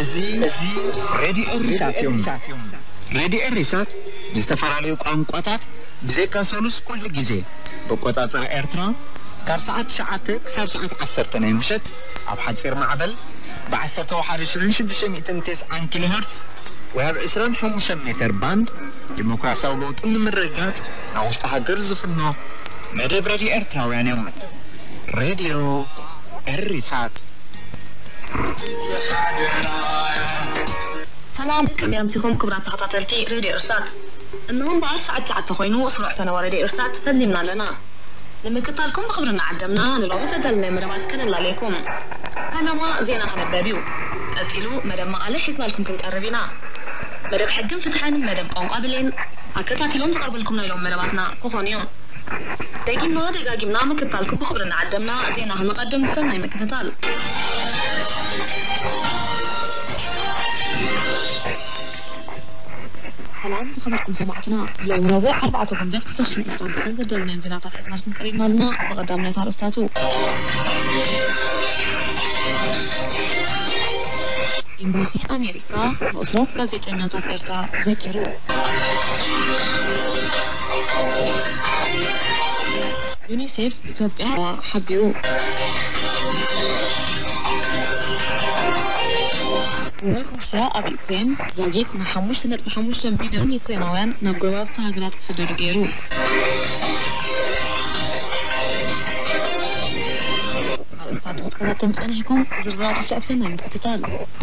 እዚ ሬድዮ ኤሪሳት እዮም። ሬድዮ ኤሪሳት ብዝተፈላለዩ ቋንቋታት ብዘይካ ሰሉስ ኩሉ ግዜ ብኣቆጻጽራ ኤርትራ ካብ ሰዓት ትሽዓተ ክሳብ ሰዓት ዓሰርተ ናይ ምሸት ኣብ ሓጺር ማዕበል ብ ዓሰርተ ሓደ ሽሕን ሽዱሽተ ሚእትን ተስዓን ኪሎ ሄርትዝ ወይ ኣብ ዕስራን ሓሙሽተን ሜተር ባንድ ዲሞክራሲያዊ ለውጢ ንምርግጋጽ ናብ ውሽጢ ሃገር ዝፍኖ መደብ ሬድዮ ኤርትራውያን እዮም። ሬድዮ ኤሪሳት። ሰላም፣ ከመይ ኣምሲኹም ክቡራት ተኸታተልቲ ሬድዮ ኤሪሳት? እነሆ እምበኣር ሰዓት ትሽዓተ ኮይኑ፣ ስሩዕ ፈነወ ሬድዮ ኤሪሳት ፈሊምና ኣለና። ንምክታልኩም ብኽብሪ እናዓደምና፣ ንሎሚ ዘዳለናዮ መደባት ከነላልየኩም። ፈለማ ዜና ክንበብ እዩ። ቀጺሉ መደብ መቐለ ሒዝናልኩም ክንቀርብ ኢና። መደብ ሕግን ፍትሕን፣ መደብ ቋንቋ ብሌን፣ ኣከታቲሎም ዝቐርብልኩም ናይ ሎም መደባትና ክኾኑ እዮም። ደጊምና ደጋጊምና ምክታልኩም ብኽብሪ እናዓደምና፣ ዜና ክንቐድም ሰናይ ምክትታል። ሰላም ዝኸበርኩም ሰማዕትና፣ ሎም ረቡዕ ኣርባዕተ ጉንበት ክልተ ሽሕን ዕስራን ክልተን ዘዳለናዮም ዜናታት ሒዝናልኩም ቀሪብና ኣለና። ብቐዳምነት ኣርእስታቱ። ኤምባሲ ኣሜሪካ ንእሱራት ጋዜጠኛታት ኤርትራ ዘኪሩ። ዩኒሴፍ ኢትዮጵያ ሓቢሩ። ወራር ሩስያ ኣብ ዩክሬን፣ ዛጊት ንሓሙሽተ ነጥቢ ሓሙሽተ ቢልዮን ዩክሬናውያን ናብ ጎረባብቲ ሃገራት ክስደዱ ገይሩ። ኣርእስታት ክትከታተሉ ጸኒሕኩም፣ ዝርዝራቱ ስዕብትና ምክትታል።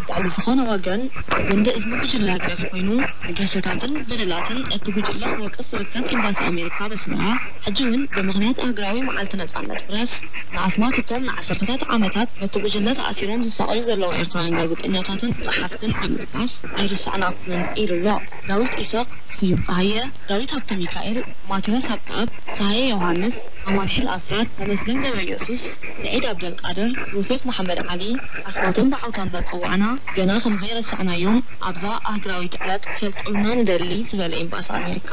ልዕሊ ዝኾነ ወገን፣ ጎንደ እዝኒ ጉጅለ ህግደፍ ኮይኑ፣ ንገሰታትን በደላትን እቲ ጉጅለ ክወቅስ ዝርከብ ኤምባሲ ኣሜሪካ ኣብ ኣስመራ፣ ሕጂ እውን ብምኽንያት ኣህጉራዊ መዓልቲ ነጻነት ፕረስ፣ ንኣስማት እቶም ንዓሰርተታት ዓመታት በቲ ጉጅለ ተኣሲሮም ዝሳቐዩ ዘለዉ ኤርትራውያን ጋዜጠኛታትን ጸሓፍትን ብምጥቃስ፣ ኣይርሳዕናኩምን ኢሉ ኣሎ። ዳዊት ኢሳቕ፣ ስዩም ጸሃየ፣ ዳዊት ሃብተሚካኤል፣ ማቴዎስ ሃብተኣብ፣ ጸሃየ ዮሃንስ፣ ኣማኑኤል ኣስራት፣ ተመስገን ገብረየሱስ፣ ስዒድ ኣብደልቃድር፣ ዮሴፍ መሓመድ ዓሊ፣ ኣስማቶም ብዓውታ እንዳጸዋዕና፣ ገና ከም ዘይረሳዕናዮም ኣብዛ ኣህጉራዊት ዕለት ክፈልጡልና ንደሊ ዝበለ ኤምባሲ ኣሜሪካ፣